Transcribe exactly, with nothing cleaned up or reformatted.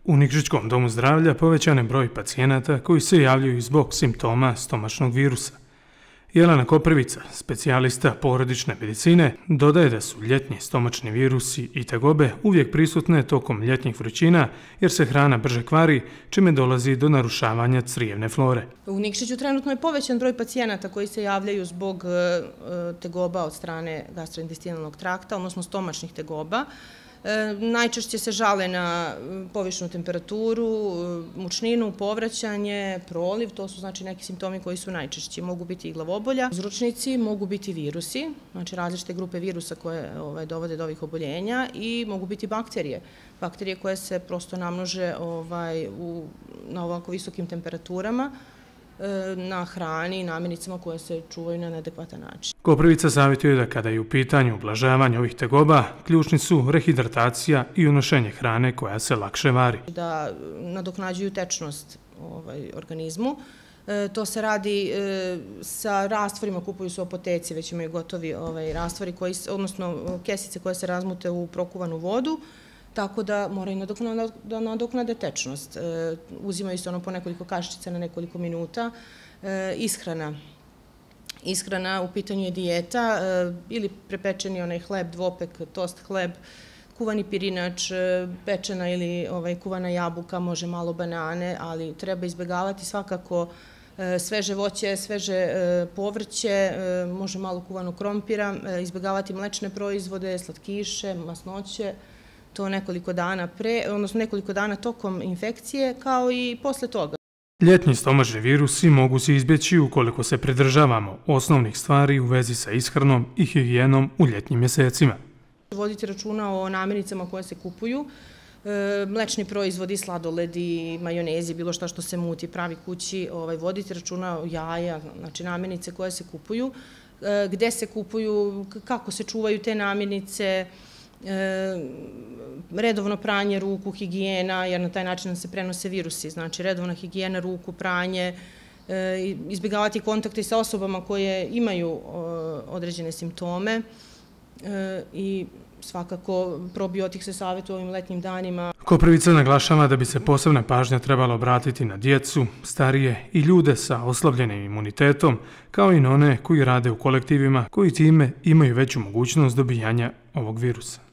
U Nikšićkom domu zdravlja povećan je broj pacijenata koji se javljaju zbog simptoma stomačnog virusa. Jelena Koprivica, specijalista porodične medicine, dodaje da su ljetni stomačni virusi i tegobe uvijek prisutne tokom ljetnih vrućina jer se hrana brže kvari, čime dolazi do narušavanja crijevne flore. U Nikšiću trenutno je povećan broj pacijenata koji se javljaju zbog tegoba od strane gastrointestinalnog trakta, odnosno stomačnih tegoba. Najčešće se žale na povišenu temperaturu, mučninu, povraćanje, proliv, to su znači neki simptomi koji su najčešći. Mogu biti i glavobolja, uzročnici, mogu biti virusi, znači različite grupe virusa koje ovaj, dovode do ovih oboljenja i mogu biti bakterije. Bakterije koje se prosto namnože ovaj, u, na ovako visokim temperaturama, na hrani i namirnicama koje se čuvaju na neadekvatan način. Koprivica savjetuje da kada je u pitanju ublažavanje ovih tegoba, ključni su rehidratacija i unošenje hrane koja se lakše vari. Da nadoknađuju tečnost ovaj, organizmu. E, to se radi e, sa rastvorima, kupuju se u apoteci, već imaju gotovi ovaj, rastvori, koji, odnosno kesice koje se razmute u prokuvanu vodu, tako da moraju da nadoknade tečnost. Uzimaju se ono po nekoliko kaščica na nekoliko minuta. Ishrana. Ishrana u pitanju je dijeta ili prepečeni onaj hleb, dvopek, tost hleb, kuvani pirinač, pečena ili ovaj, kuvana jabuka, može malo banane, ali treba izbjegavati svakako sveže voće, sveže povrće, može malo kuvanog krompira, izbjegavati mlečne proizvode, slatkiše, masnoće, to nekoliko dana pre, odnosno nekoliko dana tokom infekcije, kao i posle toga. Ljetni stomačni virusi mogu se izbjeći ukoliko se pridržavamo osnovnih stvari u vezi sa ishranom i higijenom u ljetnim mjesecima. Voditi računa o namirnicama koje se kupuju, mlečni proizvodi, sladoledi, majonezi, bilo šta što se muti, pravi kući, ovaj, voditi računa o jaja, znači namirnice koje se kupuju, gde se kupuju, kako se čuvaju te namirnice, redovno pranje ruku, higijena, jer na taj način se prenose virusi, znači redovna higijena ruku, pranje, izbjegavati kontakte sa osobama koje imaju određene simptome i svakako probiotik se savjetuje u ovim letnjim danima. Koprivica naglašava da bi se posebna pažnja trebala obratiti na djecu, starije i ljude sa oslabljenim imunitetom, kao i na one koji rade u kolektivima koji time imaju veću mogućnost dobijanja ovog virusa.